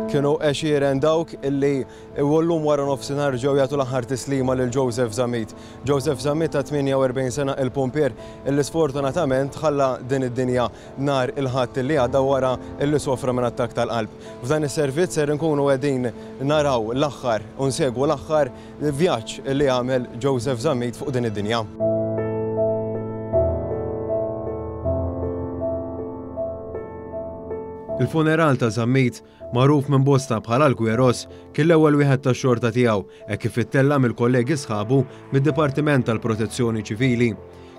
Kienu għexieren dawk illi llum wara nofsinhar ġew jagħtu l-aħħar tislima lil Joseph Zammit. Joseph Zammit ta' 48 sena il-pumpier illi sfortunatament ħalla din id-dinja nhar il-Ħadd li għadda wara illi sofra minn attakk tal-qalb. F'dan is-servizz ser inkunu qegħdin naraw l-aħħar u nsegwu l-aħħar vjaġġ li għamel Joseph Zammit fuq din id-dinja. Il-funeral ta' Zammit, magħruf minn bosta bħala l-Kweros, kien l-ewwel wieħed tax-xorta tiegħu hekk kif ittella' mill-kollegi sħabu mid-Dipartiment tal-Protezzjoni Ċivili.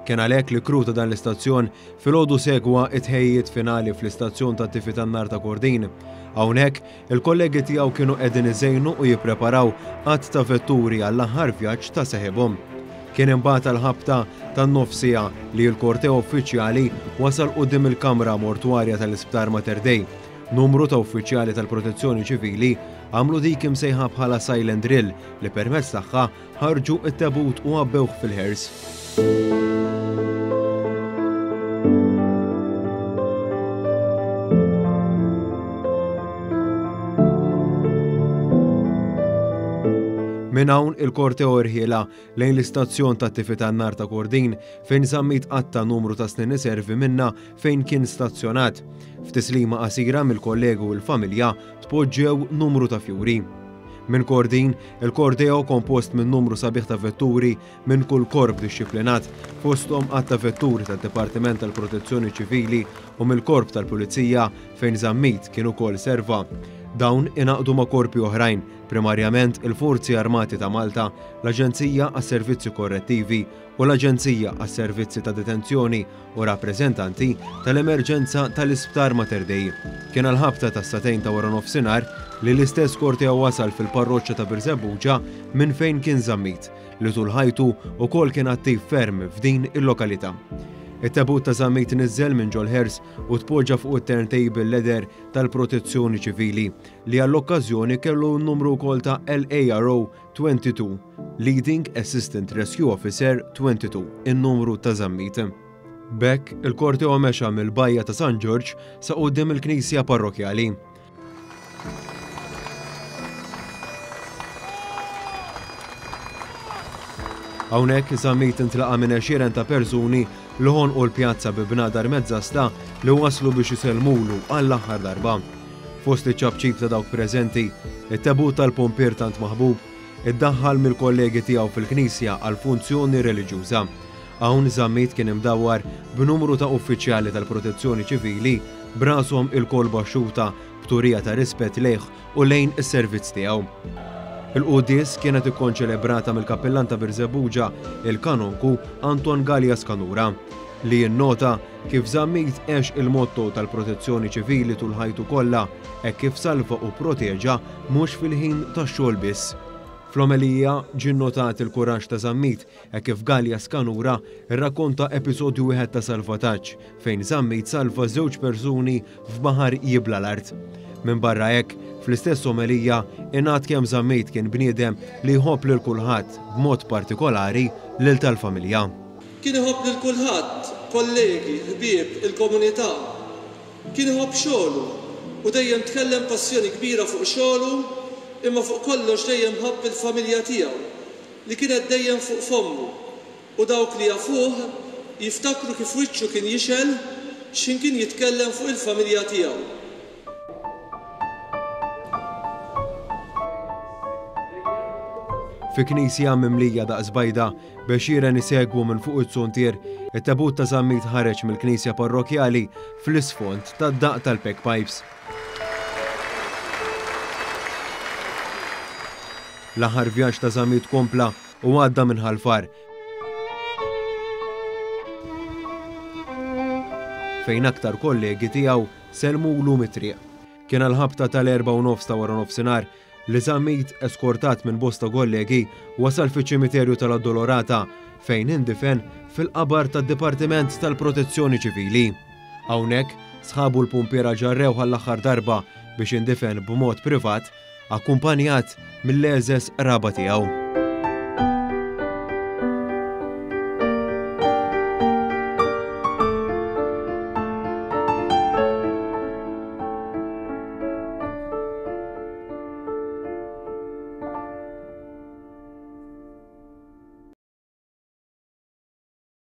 Kien għalhekk li crew ta' dan l-istazzjon filgħodu segwa t-tħejjijiet finali fl-istazzjon tat-tifi tan-nar ta' Kordin. Hawnhekk, il-kollegi tiegħu kienu qegħdin iżejnu u jippreparaw għadd ta' vetturi għall-aħħar vjaġġ ta' seħibhom. Kien imbagħad għall-ħabta tan-nofs siegħa li l-korteo uffiċjali wasal quddiem il-kamra mortwarja tal-Isptar Mater Dei. Numru ta' uffiċjali tal-Protezzjoni Ċivili għamlu dik imsejħa bħala silent drill li permezz tagħha ħarġu t-tebut u għabbewh fil-ħers. Minn hawn il-korteo rħiela lejn l-istazzjon tat-tifi tan-nar ta' Kordin fejn Zammit qatta' numru ta' snin iservi minnha fejn kien stazzjonat. F'tislima qasira mill-kollegi u l-familja tpoġġew numru ta' fjuri. Minn Kordin, il-korteo kompost minn numru sabiħ ta' vetturi minn kull korp dixxiplinat, fosthom għadd ta' vetturi tad-Dipartiment tal-Protezzjoni Ċivili u mill-Korp tal-Pulizija fejn Zammit kien ukoll serva. Dawn ingħaqdu ma' korpi oħrajn, primarjament il-Forzi Armati ta' Malta, l-Aġenzija għas-Servizzi Korrettivi u l-Aġenzija għas-Servizzi ta' Detenzjoni u rappreżentanti tal-emerġenza tal-Isptar Mater Dei. Kien għall-ħabta tas-sagħtejn ta' waranofsinhar li l-istess korteo wasal fil-parroċċa ta' Birżebbuġa minn fejn kien Zammit, li tul ħajtu wkoll kien attiv ferm f'din il-lokalità. It-tebut ta' Zammit niżżel minn ġol-ħers u tpoġġa fuq it-turntable leather tal-Protezzjoni Ċivili, li għall-okkażjoni kellu n-numru wkoll ta' LARO 22, Leading Assistant Rescue Officer 22, in-numru ta' Zammit. B'hekk, il-korteo mexa mill-Bajja ta' San Ġorġ sa quddiem il-Knisja Parrokkjali. Hawnhekk, Zammit intlaqa' minn għexieren ta' persuni li ħonqu l-pjazza bi bnadar mezzasta li waslu biex isellmulu għall-aħħar darba. Fost iċ-ċapċip ta' dawk preżenti, it-tebut tal-pompier tant maħbub iddaħħal mill-kollegi tiegħu fil-knisja għal funzjoni reliġjuża. Hawn Zammit kien imdawwar b'numru ta' uffiċjali tal-Protezzjoni Ċivili b'rashom ilkoll baxxuta b'turija ta' rispett lejh u lejn is-servizz tiegħu. Il-quddies kienet ikkonċelebrata mill-Kappillan ta' Birżebbuġa, il-Kanonku Anton Galea Scanura, li jinnota Kif Zammit għex il-motto tal-Protezzjoni Ċivili tul ħajtu kollha, hekk kif salva u pproteġa mhux fil-ħin tax-xogħol biss. Fl-omelija ġie nnotat il-kuraġġ ta' Zammit hekk kif Galea Scanura rrakkonta episodju wieħed ta' salvataġġ fejn Zammit salva żewġ persuni f'baħar jibla' l-art. Minbarra hekk, fl-istess omelija ingħad kemm Zammit kien bniedem li jħobb lil kulħadd, b'mod partikolari lil tal-familja. Kien iħobb lil kulħadd, kollegi, ħbieb, il-komunità. Kien iħobb xogħlu u dejjem tkellem b'passjoni kbira fuq xogħlu imma fuq kollox dejjem ħabb il-familja tiegħu li kienet dejjem fuq fommu u dawk li jafuh jiftakru kif wiċċu kien jixgħel x'ħin kien jitkellem fuq il-familja tiegħu. Fi knisja mimlija daqs bajda, b'għexieren isegwu minn fuq iz-zuntier, it-tebut ta' Zammit ħareġ mill-knisja parrokkjali fl-isfond tad-daqq tal-bagpipes. L-aħħar vjaġġ ta' Zammit kompla u għadda minn Ħal Far, fejn aktar kollegi tiegħu Sellmulu mit-triq. Kien għall-ħabta tal-erbgħa u nofs ta' waranofsinhar li Zammit, eskortat minn bosta kollegi, wasal fiċ-ċimiterju tal-Addolorata fejn indifen fil-qabar tad-Dipartiment tal-Protezzjoni Ċivili. Hawnhekk, sħabu l-pumpiera ġarrewh għall-aħħar darba biex indifen b'mod privat akkumpanjat mill-għeżeż qraba tiegħu.